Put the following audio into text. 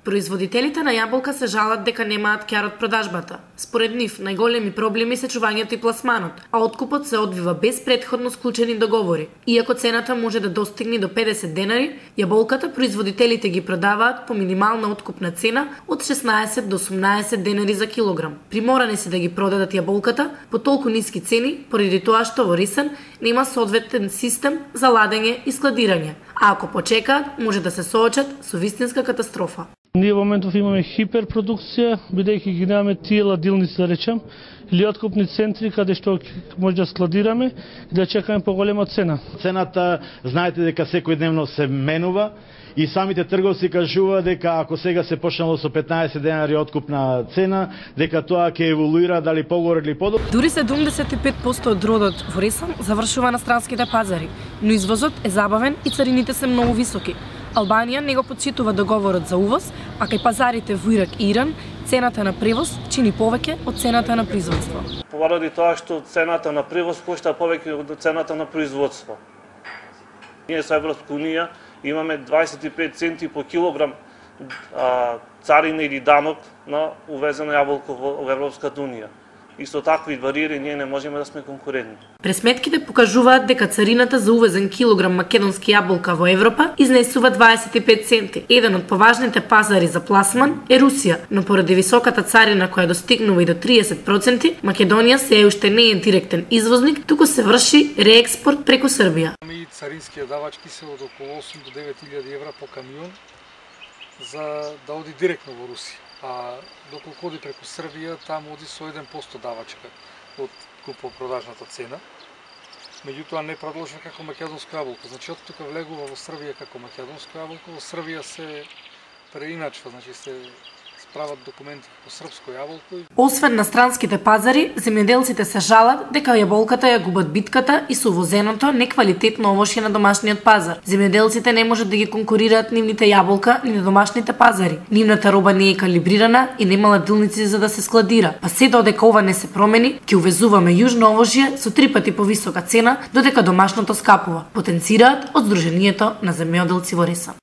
Производителите на јаболка се жалат дека немаат кјар од продажбата. Според нив, најголеми проблеми се чувањето и пласманот, а откупот се одвива без претходно склучени договори. Иако цената може да достигне до 50 денари, јаболката производителите ги продаваат по минимална откупна цена од 16 до 18 денари за килограм. Приморани се да ги продадат јаболката по толку ниски цени, поради тоа што во Рисен нема соодветен систем за ладење и складирање, а ако почекаат, може да се соочат со вистинска катастрофа. Ние во моментов имаме хиперпродукција, бидејќи ги немаме тие ладилници, да речем, или откупни центри каде што може да складираме и да чекаме поголема цена. Цената, знаете дека секојдневно се менува и самите трговци кажуваат дека ако сега се почнало со 15 денари откупна цена, дека тоа ќе еволуира дали погоре или подолу. Дури 75% од родот во Рисен завршува на странските пазари, но извозот е забавен и царините се многу високи. Албанија не го потчитува договорот за увоз, а кај пазарите во Ирак и Иран цената на превоз чини повеќе од цената на производство. Поради тоа што цената на превоз кошта повеќе од цената на производство. Ние со Европска унија имаме 25 центи по килограм царина или данок на увезена јаболка во Европската унија. И со такви бариери ние не можеме да сме конкурентни. Пресметките покажуваат дека царината за увезен килограм македонски јаболка во Европа изнесува 25 центи. Еден од поважните пазари за пласман е Русија, но поради високата царина која достигнува и до 30%, Македонија се уште не е директен извозник, туку се врши реекспорт преку Србија. И царинските давачки се од околу 8 до 9.000 евра по камион за да оди директно во Русија. А доколку оди преку Србија, таму оди со 1% давачка од купопродажната цена. Меѓутоа не продолжува како македонска јаболка. Значи од тука влегува во Србија како македонска јаболка, во Србија се преиначва, значи се справат документи по српско јаболко. Освен на странските пазари, земјоделците се жалат дека јаболката ја губат битката и со увозеното неквалитетно овошје на домашниот пазар. Земјоделците не можат да ги конкурираат нивните јаболка ни на домашните пазари. Нивната роба не е калибрирана и нема ладилници за да се складира. Па се додека ова не се промени, ќе увезуваме јужно овошје со 3 пати повисока цена, додека домашното скапува, потенцираат од Сдруженијето на земјоделци во Рисен.